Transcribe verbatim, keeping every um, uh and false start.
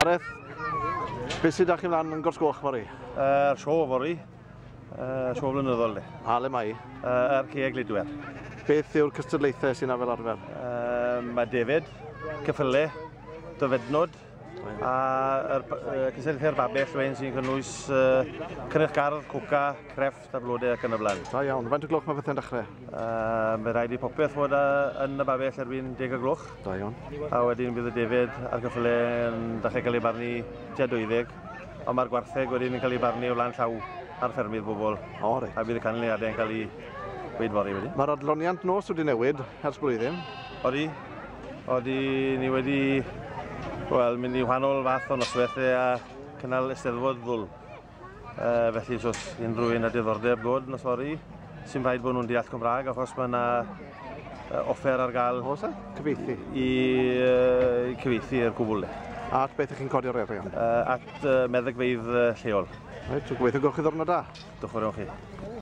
Gareth, beth sydd â chi mlaen yn Gors Goch fory? Yr uh, sio fory, uh, sio flynyddol le. A le mae? Uh, yr Cei Gludwer. Beth yw'r cystadlaethau sy'n fel arfer? Uh, mae David, cyffyle, dyfednod, a yr uh, cystadlaethau'r babell wedyn sy'n cynnwys uh, cynnyrch gardd, coca, crefft a blodau ac yn y blaen. Da iawn. Faint o gloch mae pethau'n dechrau? Uh, mae rhaid i popeth fod yn y babell erbyn deg o gloch. Da iawn. A wedyn bydd y David a'r cyffyle yn dechrau cael ei barnu tua deuddeg, ond mae'r gwartheg wedyn yn cael ei barnu o flaen llaw ar ffermydd bobl. O, reit. A bydd y canlyniadau yn cael ei weid fory wedyn. Mae'r adloniant nos wedi newid ers blwyddyn. Odi. Odi, ni wedi wel, mynd i wahanol fath o nosweithiau a cynnal Eisteddfod ddwl. Uh, felly, os oes unrhyw un â diddordeb dod nos fory, sy'n rhaid bod nhw'n deall Cymraeg, achos mae yna offer ar gael. Oes e? Cyfieithu? I, uh, i cyfieithu i'r cwbl. A at beth ych chi'n codi'r arian? Uh, at uh, meddygfeydd lleol. Reit, so gobeithio gwelwch chi ddwrnod da. Diolch yn fawr iawn chi.